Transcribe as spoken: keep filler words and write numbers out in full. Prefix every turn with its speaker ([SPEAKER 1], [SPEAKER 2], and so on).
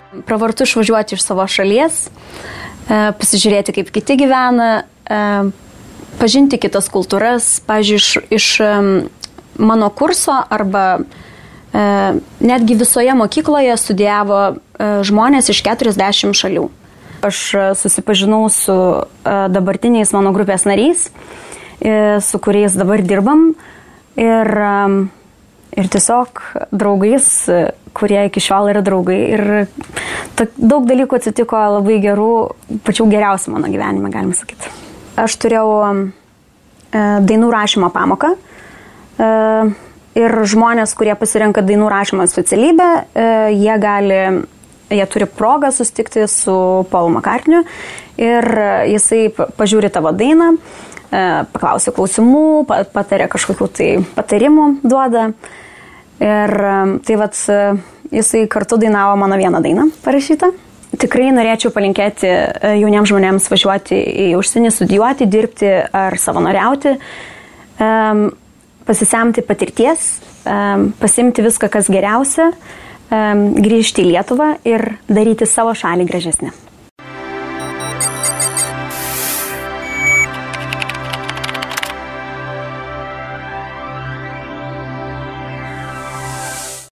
[SPEAKER 1] Pravartu išvažiuoti iš savo šalies, pasižiūrėti, kaip kiti gyvena, pažinti kitas kultūras. Pavyzdžiui, iš, iš mano kurso arba netgi visoje mokykloje studijavo žmonės iš keturiasdešimt šalių. Aš susipažinau su dabartiniais mano grupės nariais, su kuriais dabar dirbam ir, ir tiesiog draugais, kurie iki šiol yra draugai. Ir daug dalykų atsitiko labai gerų, pačių geriausių mano gyvenime, galima sakyti. Aš turėjau dainų rašymo pamoką ir žmonės, kurie pasirenka dainų rašymo specialybę, jie gali, jie turi progą susitikti su Paulu McCartney'u ir jisai pažiūri tavo dainą, paklausia klausimų, patarė kažkokių tai patarimų duoda. Ir tai vat, jisai kartu dainavo mano vieną dainą parašytą. Tikrai norėčiau palinkėti jauniems žmonėms važiuoti į užsienį, studijuoti, dirbti ar savanoriauti, pasisemti patirties, pasimti viską, kas geriausia, grįžti į Lietuvą ir daryti savo šalį gražesnę.